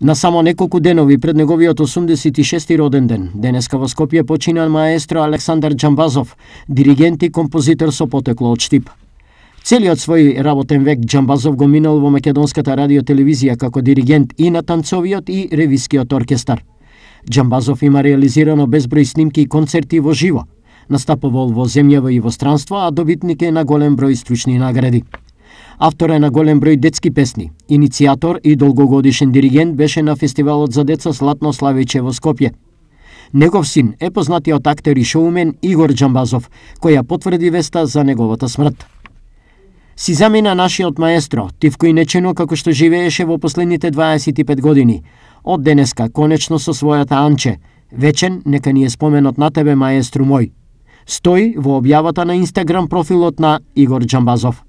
На само неколку денови пред неговиот 86-ти роден ден, денеска во Скопје почина маестро Александар Џамбазов, диригент и композитор со потекло од Штип. Целиот свој работен век Џамбазов го минал во македонската радио-телевизија како диригент и на танцовиот и ревискиот оркестар. Џамбазов има реализирано безброј снимки и концерти во живо. Настапувал во земјава и во странство, а добитник е на голем број стручни награди. Автор е на голем број детски песни. Иницијатор и долгогодишен диригент беше на фестивалот за деца Златно Славиче во Скопје. Негов син е познатиот актер и шоумен Игор Џамбазов, која потврди веста за неговата смрт. Си замина нашиот маестро, тивко и нечено како што живееше во последните 25 години. Од денеска, конечно со својата Анче, вечен нека ни е споменот на тебе, маестру мој. Стои во објавата на Инстаграм профилот на Игор Џамбазов.